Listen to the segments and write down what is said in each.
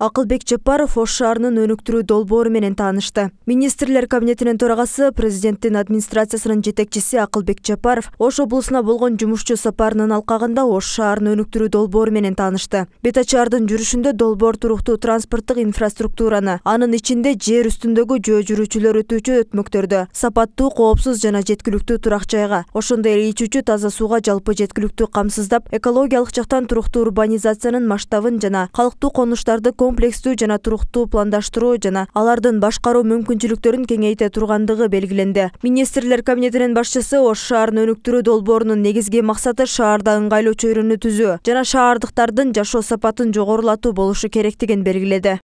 Акылбек Жапаров Ош шаарынын өнүктүрүү долбоору менен таанышты. Министрлер кабинетинин төрагасы, президенттин администрациясынын жетекчиси Акылбек Жапаров Ош облусуна болгон жумушчу сапарынын алкагында Ош шаарынын өнүктүрүү долбоору менен таанышты. Бет ачаардын жүрүшүндө долбоор туруктуу транспорттук инфраструктураны, анын ичинде жер үстүндөгү жөө жүрүүчүлөр өтүүчү өтмөктөрдө, сапаттуу, коопсуз жана жеткиликтүү турак жайга, ошондой эле ичүүчү таза сууга жалпы жеткиликтүү камсыздап, экологиялык жактан туруктуу урбанизациянын масштабын жана калктуу конуштарды комплекстүү жана туруктуу пландаштыруу жана алардын башкаруу мүмкүнчүлүктөрүн кеңейте тургандыгы белгиленди. Министрлер кабинетинин башчысы Ош шаарын өнүктүрүү долбоорунун негизги максаты шаарда ыңгайлуу чөйрөнү түзүү жана шаардыктардын жашоо сапатын жогорулатуу болушу керектигин белгиледи.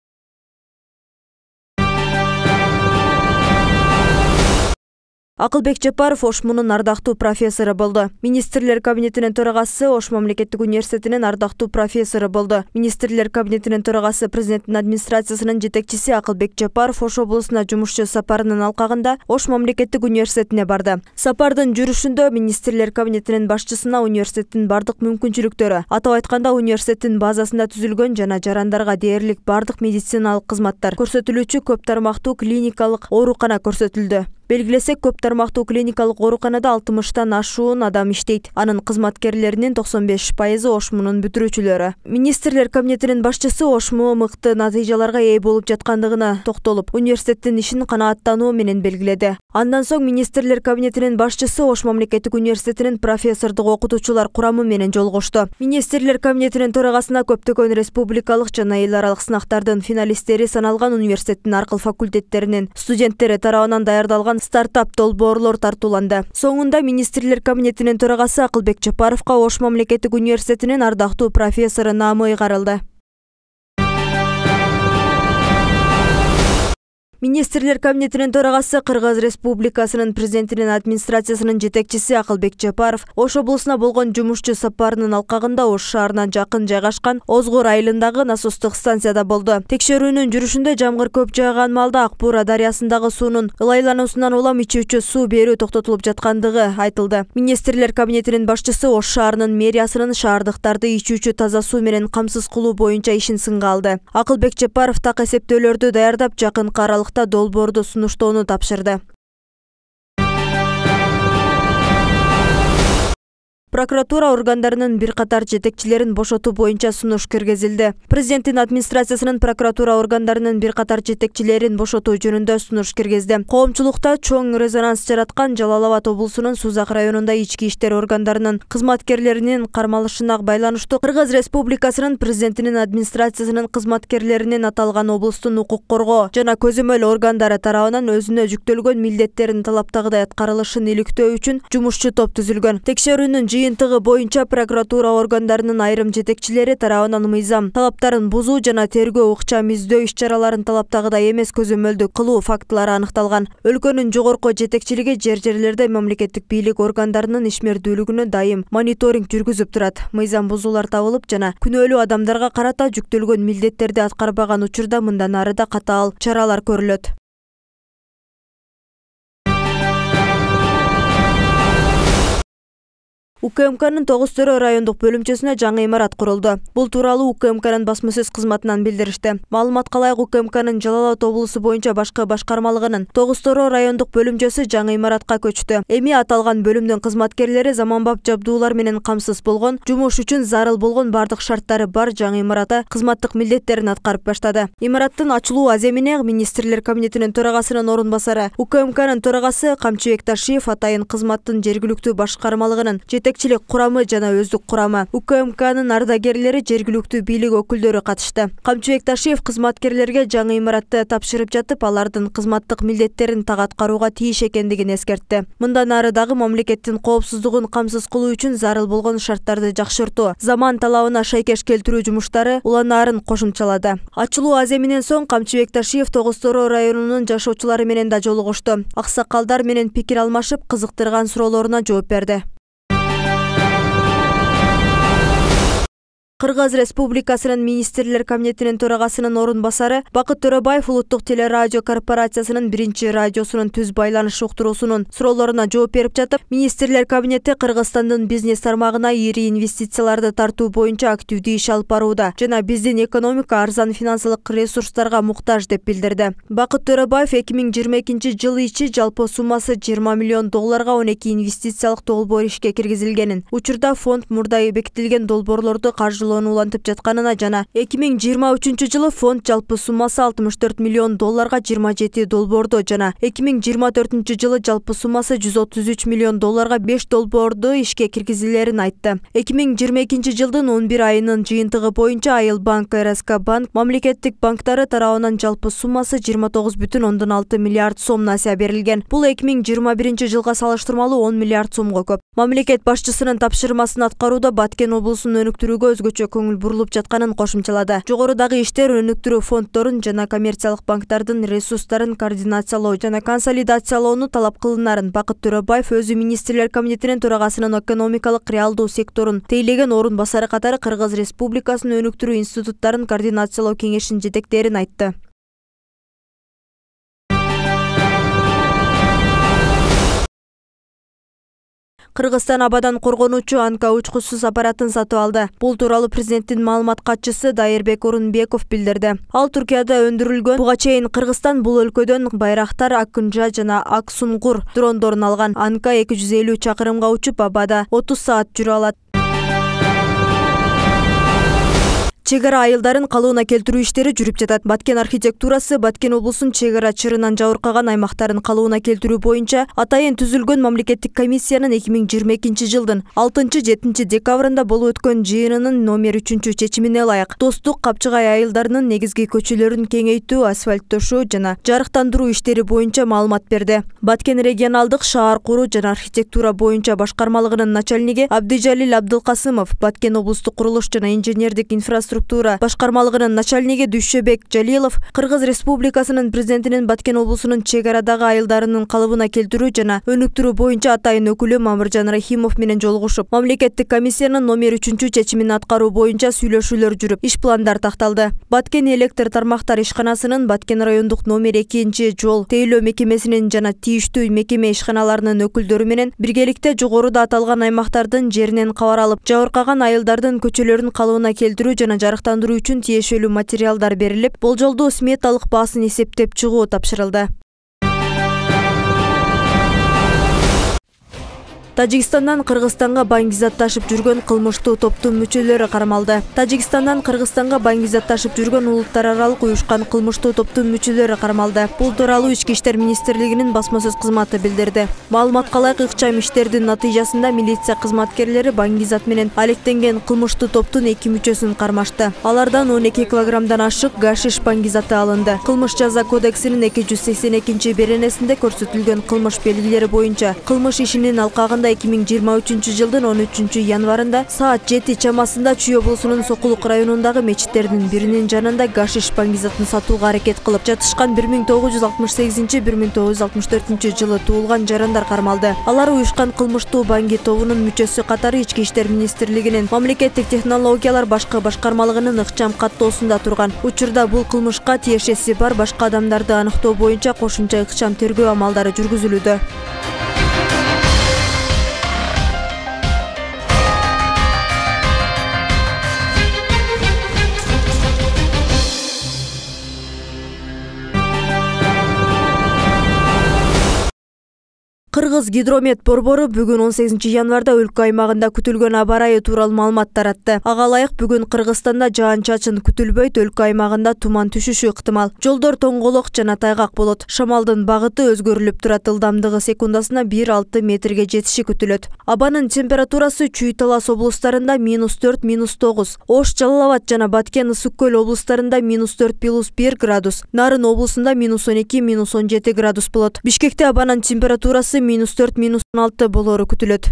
Акылбек Жапаров Ош мунун ардактуу профессору болду. Министрлер кабинетинин төрагасы Ош мамлекеттик университетинин ардактуу профессору болду. Министрлер кабинетинин төрагасы, президенттин администрациясынын жетекчиси Акылбек Жапаров Ош облусуна жумушчу сапарынын алкагында Ош мамлекеттик университетине барды. Сапардын жүрүшүндө министрлер кабинетинин башчысына университеттин бардык мүмкүнчүлүктөрү, атап айтканда университеттин базасында түзүлгөн жана жарандарга дээрлик бардык медициналык кызматтар көрсөтүлүүчү көп тармактуу клиникалык оорукана көрсөтүлдү. Белгилесек, көп тармактуу клиникалык ооруканада 60тан ашуун адам иштейт. Анын кызматкерлеринин 95% Ош мунун бүтүрүүчүлөрү. Министрлер кабинетинин башчысы Ош МУ мыкты натыйжаларга ээ болуп жаткандыгына токтолуп, университеттин ишин канааттануу менен белгиледи. Андан соң министрлер кабинетинин башчысы Ош мамлекеттик университетинин профессордук окутуучулар курамы менен жолугушту. Министрлер кабинетинин төрагасына көптөгөн республикалык жана эл аралык сынактардын финалисттери саналган университеттин аркыл факультеттеринин студенттери тарабынан даярдалган стартап долбоорлор тартууланды. Соңунда министрлер кабинетинин төрагасы Акылбек Жапаровго Ош мамлекеттик университетинин ардактуу профессору наамы ыйгарылды. Министрлер кабинетинин төрагасы, Кыргыз Республикасынын президентинин администрациясынын жетекчиси Акылбек Жапаров Ош облусуна болгон жумушчу сапарынын алкагында Ош шаарынан жакын жайгашкан Озгор айылындагы насостук станцияда болду. Текшерүүнүн жүрүшүндө жамгыр көп жааган маалда Ак Буура дарыясындагы суунун ылайлануусунан улам ичүүчү суу берүү токтотулуп жаткандыгы айтылды. Министрлер кабинетинин башчысы Ош шаарынын мэриясынын шаардыктарды ичүүчү таза суу менен камсыз кылуу боюнча ишин сынга алды. Акылбек Жапаров так эсептөөлөрдү даярдап, жакынкы аралыкта долбоорду сунуштоону тапшырды. Прокуратура органдарынын бир катар жетекчилерин бошотуу боюнча сунуш киргизилди. Президенттин администрациясынын прокуратура органдарынын бир катар жетекчилерин бошотуу жөнүндө сунуш киргизди. Коомчулукта чоң резонанс жараткан Жалал Абад облусунун Сузак районунда ички иштер органдарынын кызматкерлеринин кармалышына байланыштуу Кыргыз Республикасынын президентинин администрациясынын кызматкерлеринин аталган облустун укук коргоо жана көзөмөл органдары тарабынан өзүнө жүктөлгөн милдеттерин талаптагыдай аткарылышын иликтөө үчүн жумушчу топ түзүлгөн. Текшерүүнүн жыйынтыгы боюнча прокуратура органдарынын айрым жетекчилери тарабынан мыйзам талаптарын бузуу жана тергөө ыкчам издөө иш-чараларын талаптагыдай эмес көзөмөлдү кылуу фактылары аныкталган. Өлкөнүн жогорку жетекчилиги жерлерде мамлекеттик бийлик органдарынын ишмердүүлүгүнө дайым мониторинг жүргүзүп турат. Мыйзам бузуулар табылып жана күнөөлүү адамдарга карата жүктөлгөн милдеттерди аткарбаган учурда мындан ары да катаал чаралар көрүлөт. УКМКнын Тогуз Төрө райондук бөлүмчөсүнө жаңы имарат курулду. Бул тууралуу УКМКнын басма сөз кызматынан билдиришти. Маалыматка ылайык, УКМКнын Жалал Абад облусу боюнча башкы башкармалыгынын Тогуз Төрө райондук бөлүмчөсү жаңы имаратка көчтү. Эми аталган бөлүмдүн кызматкерлери заманбап жабдуулар менен камсыз болгон, жумуш үчүн зарыл болгон бардык шарттары бар жаңы имаратта кызматтык милдеттерин аткарып баштады. Имараттын ачылуу аземине министрлер кабинетинин төрагасынын орун басары, УКМКнын төрагасы Камчыбек Ташиев атайын кызматтын жергиликтүү башкармалыгынын жетекчилик курамы жана өздүк курамы, УКМКнын ардагерлери, жергиликтүү бийлик өкүлдөрү катышты. Камчыбек Ташиев кызматкерлерге жаңы имаратты тапшырып жатып, алардын кызматтык милдеттерин так аткарууга тийиш экендигин эскертти. Мындан ары дагы мамлекеттин коопсуздугун камсыз кылуу үчүн зарыл болгон шарттарды жакшыртуу, заман талабына шайкеш келтирүү жумуштары уланаарын кошумчалады. Ачылуу аземинен соң Камчыбек Ташиев Тогуз Төрө районунун жашоочулары менен да жолугушту. Аксакалдар менен пикир алмашып, кызыктырган суроолоруна жооп берди. Кыргыз Республикасынын Министрлер Кабинетинин төрагасынын орун басары Бакыт Төрөбаев Улуттук телерадио корпорациясынын биринчи радиосунун түз байланыш уктуруусунун суроолоруна жооп берип жатып, Министрлер Кабинети Кыргызстандын бизнес тармагына ири инвестицияларды тартуу боюнча активдүү иш алып барууда жана биздин экономика арзан финансылык ресурстарга муктаж деп билдирди. Бакыт Төрөбаев 2022 ичи жалпы суммасы $20 миллион 12 инвестициялык долбоор ишке киргизилгенин, учурда фонд мурда бекитилген долбоорлорду каржылоо улантып жатканына жана 2023 жылы фонд жалпы суммасы $64 миллион 27 долбоорду жана 2024 жылы жалпы суммасы $133 миллион 5 долбоорду ишке киргизилерин айтты. 2022 жылдын 11 айынын жыйынтыгы боюнча Айыл банк, РСК банк, мамлекеттик банктары тарабынан жалпы суммасы 29,6 миллиард сом насыя берилген. Бул 2021 жылга салыштырмалуу 10 миллиард сомго көп. Мамлекет башчысынын тапшырмасын аткарууда Баткен облусунун өнүктүрүүгө өзгөчө көңүл бурулуп жатканын кошумчалады. Жогорудагы иштер өнүктүрүү фонддорун жана коммерциялык банктардын ресурстарын координациялоо жана консолидациялоону талап кылынарын Бакыт Төрөбаев өзү Министрлер Кабинетинин төрагасынын экономикалык реалдуу секторун тейлеген орун басары катары Кыргыз Республикасынын өнүктүрүү институттарын координациялоо кеңешинин жетектерин айтты. Кыргызстан абадан коргонуучу Анка учкучсуз аппаратын сатып алды. Бул тууралуу президенттин маалымат катчысы Дайырбек Орунбеков билдирди. Ал Туркияда өндүрүлгөн буга чейин Кыргызстан бул өлкөдөн Байрактар, Акунжа жана Аксунгур дрондорун алган. Анка 250 чакырымга учуп абада 30 саат жүрө алат. Чек ара айылдарын калыбына келтирүү иштери жүрүп жатат. Баткен архитектурасы Баткен облусунун чек ара чырынан жабыркаган аймактарын калыбына келтирүү боюнча атайын түзүлгөн мамлекеттик комиссиянын 2022 жылдын 6-7 декабрында болуп өткөн жыйынынын номер 3 чечимине ылайык Достук, Капчыгай айылдарынын негизги көчөлөрүн кеңейтүү, асфальттошуу жана жарыктандыруу иштери боюнча маалымат берди. Баткен регионалдык шаар куруу жана архитектура боюнча башкармалыгынын начальниги Абдыжалил Абдылкасымов, Баткен облустук курулуш жана инженердик инфраструктура башкармалыгынын начальниги Дүйшөбек Жалилов Кыргыз Республикасынын президентинин Баткен облусунун чек арадагы айылдарынын калыбына келтирүү жана өнүктүрүү боюнча атайын өкүлү Мамыржан Рахимов менен жолугушуп, мамлекеттик комиссиянын номер 3 чечимин аткаруу боюнча сүйлөшүүлөр жүрүп, иш пландар такталды. Баткен электр тармактар ишканасынын Баткен райондук номер 2 жол тейлөө мекемесинин жана тийиштүү мекеме ишканаларынын өкүлдөрү менен биргеликте жогоруда аталган аймактардын жеринен кабар алып, жабыркаган айылдардын көчөлөрүн калыбына келтирүү жана жарыктандыруу үчүн тиешелүү материалдар берилип, болжолдуу сметалык баасын эсептеп чыгуу тапшырылды. Тажикстандан Кыргызстанга баңгизатташып жүргөн кылмыштуу топтун мүчөлөрү кармалды. Тажикстандан Кыргызстанга баңгизатташып жүргөн улуттар аралык уюшкан кылмыштуу топтун мүчөлөрү кармалды. Бул тууралуу Ички иштер министрлигинин басма сөз кызматы билдирди. Маалыматка ылайык ыкчам иштердин натыйжасында милиция кызматкерлери баңгизат менен алектенген кылмыштуу топтун 2 мүчөсүн кармашты. Алардан 12 килограммдан ашык гашиш баңгизаты алынды. Кылмыш жаза кодексинин 282 беренесинде көрсөтүлгөн кылмыш белгилери боюнча кылмыш ишинин алкагында 2023 жылдын 13 январында саат 7 чамасында Чүй облусунун Сокулук районундагы мечиттердин биринин жанында гашиш баңгизатын сатууга аракет кылып жатышкан 1968-1964 жылы туулган жарандар кармалды. Алар уюшкан кылмыштуу баңги тобунун мүчөсү катары Ички иштер министрлигинин мамлекеттик технологиялар башкы башкармалыгынын ыкчам каттоосунда турган. Учурда бул кылмышка тиешеси бар башка адамдарды аныктоо боюнча кошумча ыкчам тергөө амалдары жүргүзүлүүдө. Кыргыз гидромет борбору бүгүн 18 январда өлкө аймагында күтүлгөн аба ырайы тууралуу маалымат таратты. Ага ылайык бүгүн Кыргызстанда жаан-чачын күтүлбөйт, өлкө аймагында туман түшүшү ыктымал. Жолдор тоңголок жана тайгак болот. Шамалдын багыты өзгөрүлүп турат, ылдамдыгы секундасына 1-6 метрге жетиши күтүлөт. Абанын температурасы Чүй, Талас облустарында -4, -9, Ош, Жалал Абад жана Баткен, Ысык көл облустарында -4, +1 градус, Нарын облусунда -12, -17 градус болот. Бишкекте абанын температурасы -4, -16 болору күтүлөт.